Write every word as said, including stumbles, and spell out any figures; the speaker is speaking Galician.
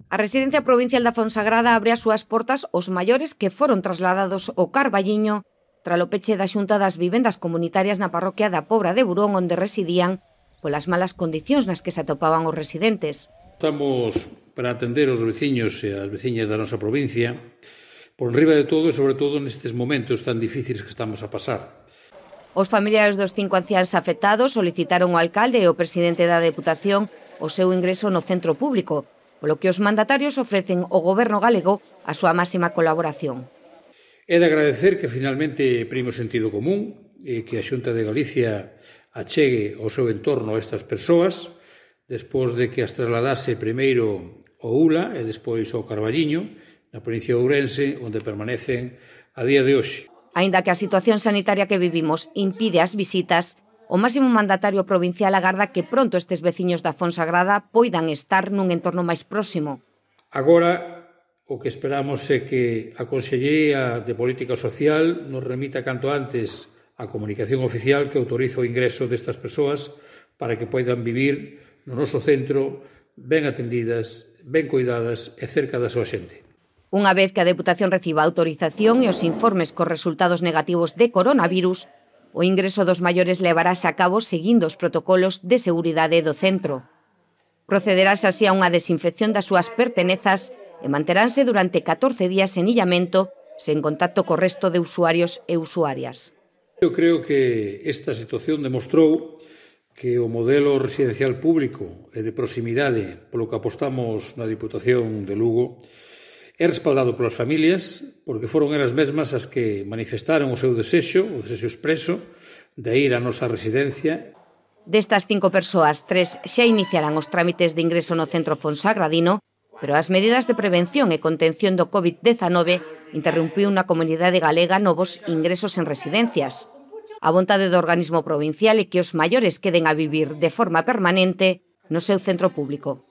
A Residencia Provincial da Fonsagrada abre as súas portas aos maiores que foron trasladados ao Carballiño tralo peche da Xunta das Vivendas Comunitarias na parroquia da Pobra de Burón, onde residían polas malas condicións nas que se atopaban os residentes. Estamos para atender os veciños e as veciñas da nosa provincia por riba de todo e sobre todo nestes momentos tan difíciles que estamos a pasar. Os familiares dos cinco anciáns afectados solicitaron ao alcalde e ao presidente da Deputación o seu ingreso no centro público, polo que os mandatarios ofrecen ao goberno galego a súa máxima colaboración. É de agradecer que finalmente prime o sentido común e que a Xunta de Galicia achegue ao seu entorno a estas persoas, despois de que as trasladase primeiro ao U L A e despois ao Carballiño, na provincia de Ourense, onde permanecen a día de hoxe. Aínda que a situación sanitaria que vivimos impide as visitas, o máximo mandatario provincial agarda que pronto estes veciños da Fonsagrada poidan estar nun entorno máis próximo. Agora, o que esperamos é que a Consellería de Política Social nos remita canto antes a comunicación oficial que autoriza o ingreso destas persoas para que poidan vivir no noso centro ben atendidas, ben cuidadas e cerca da súa xente. Unha vez que a Deputación reciba a autorización e os informes cos resultados negativos de coronavirus, o ingreso dos maiores levarase a cabo seguindo os protocolos de seguridade do centro. Procederase así a unha desinfección das súas pertenezas e manteránse durante catorce días en illamento sen contacto co resto de usuarios e usuarias. Eu creo que esta situación demostrou que o modelo residencial público e de proximidade polo que apostamos na Diputación de Lugo é respaldado polas familias, porque foron elas mesmas as que manifestaron o seu desexo, o desexo expreso, de ir á nosa residencia. Destas cinco persoas, tres xa iniciarán os trámites de ingreso no centro fonsagradino, pero as medidas de prevención e contención do COVID diecinueve interrompiu na comunidade galega novos ingresos en residencias. A vontade do organismo provincial é que os maiores queden a vivir de forma permanente no seu centro público.